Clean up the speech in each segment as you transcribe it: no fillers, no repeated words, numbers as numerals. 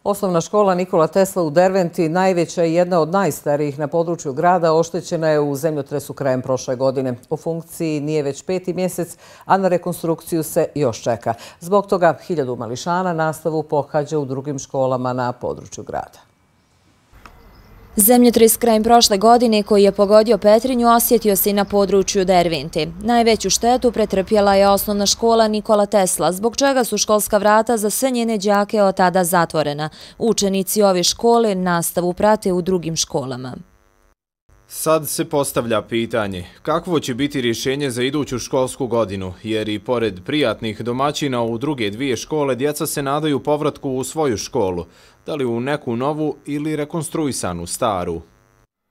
Osnovna škola Nikola Tesla u Derventi, najveća i jedna od najstarijih na području grada, oštećena je u zemljotresu krajem prošle godine. U funkciji nije već 5. mjesec, a na rekonstrukciju se još čeka. Zbog toga 1000 mališana nastavu pohađa u drugim školama na području grada. Zemljotres krajem prošle godine koji je pogodio Petrinju osjetio se i na području Dervente. Najveću štetu pretrpjela je osnovna škola Nikola Tesla, zbog čega su školska vrata za sve njene đake od tada zatvorena. Učenici ove škole nastavu prate u drugim školama. Sad se postavlja pitanje kakvo će biti rješenje za iduću školsku godinu, jer i pored prijatnih domaćina u druge dvije škole djeca se nadaju povratku u svoju školu, da li u neku novu ili rekonstruisanu staru.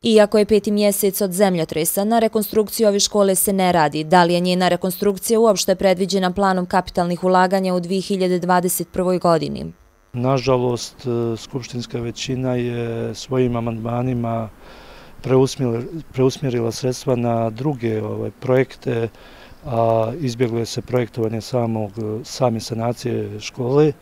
Iako je 5. mjesec od zemljotresa, na rekonstrukciju ove škole se ne radi. Da li je njena rekonstrukcija uopšte predviđena planom kapitalnih ulaganja u 2021. godini? Nažalost, skupštinska većina je svojim amandmanima preusmjerila sredstva na druge projekte, a izbjeglo je se projektovanje same sanacije škole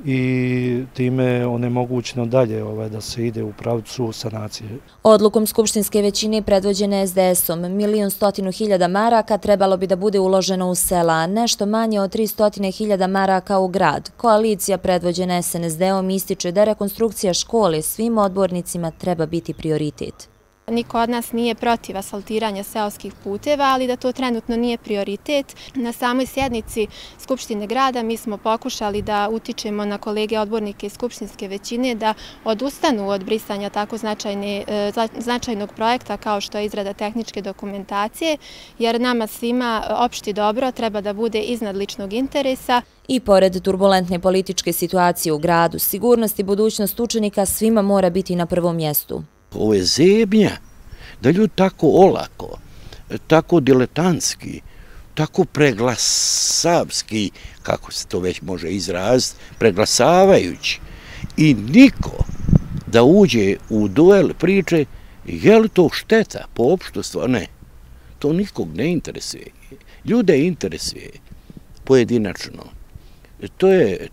i time je onemogućeno dalje da se ide u pravcu sanacije. Odlukom skupštinske većine predvođene SDS-om 1.100.000 maraka trebalo bi da bude uloženo u sela, a nešto manje od 300.000 maraka u grad. Koalicija predvođena SNSD-om ističe da rekonstrukcija škole svim odbornicima treba biti prioritet. Niko od nas nije protiv asfaltiranja seoskih puteva, ali da to trenutno nije prioritet. Na samoj sjednici Skupštine grada mi smo pokušali da utičemo na kolege odbornike iz skupštinske većine da odustanu od brisanja tako značajnog projekta kao što je izrada tehničke dokumentacije, jer nama svima opšti dobro treba da bude iznad ličnog interesa. I pored turbulentne političke situacije u gradu, sigurnost i budućnost učenika svima mora biti na prvom mjestu. Ovo je zebnja, da ljudi tako olako, tako diletantski, tako preglasavski, kako se to već može izraziti, preglasavajući. I niko da uđe u duel priče, je li to šteta po opštostvu? Ne, to nikog ne interesuje. Ljude interesuje pojedinačno.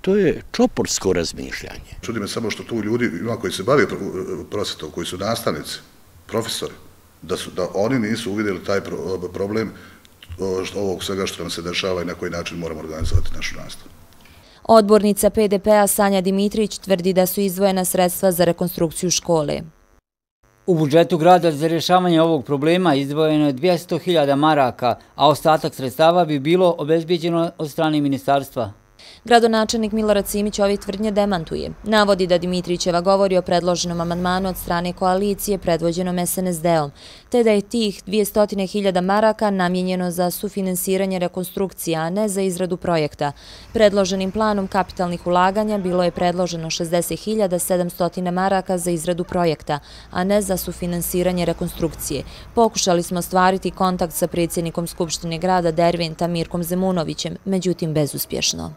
To je čoporsko razmišljanje. Čudi me samo što tu ljudi ima koji se bave prosvetom, koji su nastavnici, profesori, da oni nisu uvidjeli taj problem ovog svega što nam se dešava i na koji način moramo organizovati našu nastavu. Odbornica PDP-a Sanja Dimitrić tvrdi da su izdvojena sredstva za rekonstrukciju škole. U budžetu grada za rješavanje ovog problema izdvojeno je 200.000 maraka, a ostatak sredstava bi bilo obezbijeđeno od strane ministarstva. Gradonačelnik Milorad Simić ove tvrdnje demantuje. Navodi da Dimitrićeva govori o predloženom amandmanu od strane koalicije predvođenom SNSD-om, te da je tih 200.000 maraka namijenjeno za sufinansiranje rekonstrukcije, a ne za izradu projekta. Predloženim planom kapitalnih ulaganja bilo je predloženo 60.700 maraka za izradu projekta, a ne za sufinansiranje rekonstrukcije. Pokušali smo ostvariti kontakt sa predsjednikom Skupštine grada Derventa Mirkom Zemunovićem, međutim bezuspješno.